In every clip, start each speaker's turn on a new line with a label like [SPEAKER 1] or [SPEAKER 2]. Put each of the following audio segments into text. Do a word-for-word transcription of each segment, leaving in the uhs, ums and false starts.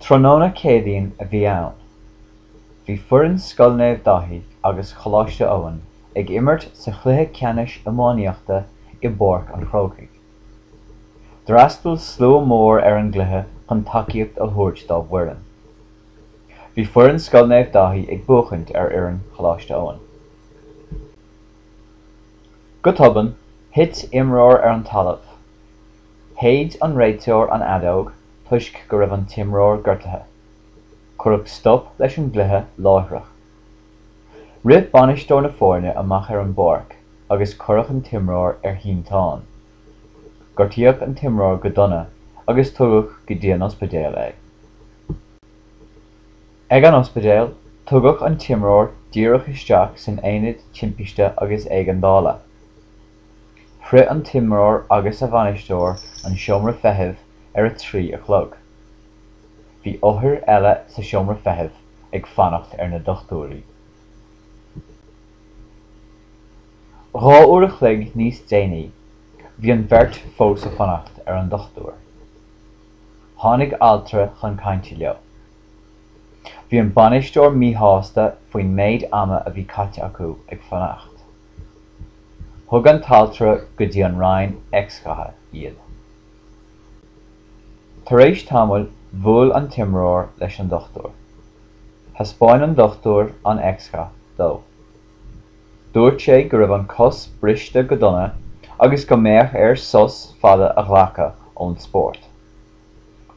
[SPEAKER 1] Tráthnóna Céadaoin a bhí ann. Bhí foireann Scoil Naomh Daithí agus Choláiste Eoin ag imirt sa chluiche ceannais iománaíochta i bPáirc an Chrócaigh. D'fhreastail slua mór ar an gcluiche chun tacaíocht a thabhairt dá bhfoireann. Bhí foireann Scoil Naomh Daithí ag buachaint ar fhoireann Choláiste Eoin. Go tobann, thit imreoir ar an talamh. Shéid an réiteoir an fheadóg toisc go raibh an t-imreoir gortaithe. Cuireadh stop leis an gcluiche láithreach. Rith bainisteoir na foirne amach ar an bpáirc agus cuireadh an t-imreoir ar shínteán. Gortaíodh an t-imreoir go dona agus tugadh go dtí an ospidéal é. Ag an ospidéal, tugadh an t-imreoir díreach isteach san aonad timpiste agus éigeandála. Shroich an t-imreoir agus a bhainisteoir an seomra feithimh ar a trí a chlog. Bhí othair eile sa seomra feithimh ag fanacht ar na dochtúirí. Dhá uair a chloig níos déanaí, bhí an bheirt fós ag fanacht ar an dochtúir. Tháinig altra chun cainte leo. Bhí an bainisteoir míshásta faoin méid ama a bhí caite acu ag fanacht. Thug an t-altra go dtí an roinn x-ghatha iad. Tar éis tamaill, bhuail an t-imreoir leis an dochtúir. Thaispeáin an dochtúir an x-gha dó. Dúirt sé go raibh an chos briste go dona agus go mbeadh air sos fada a ghlacadh ón spórt.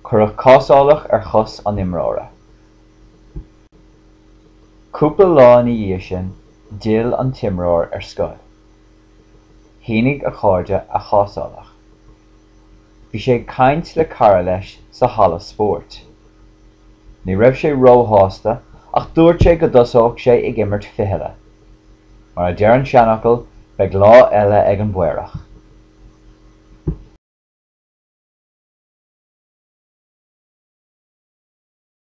[SPEAKER 1] Cuireadh cásálach ar chos an imreora. Cúpla lá ina dhiaidh sin, d'fhill an t-imreoir ar scoil. Shínigh a chairde a chásálach. Bhí sé ag caint le cara leis sa halla spóirt. Ní raibh sé róshásta ach dúirt sé go dtosódh sé ag imirt fichille. Mar a deir an seanfhocal, beidh lá eile ag an bPaorach.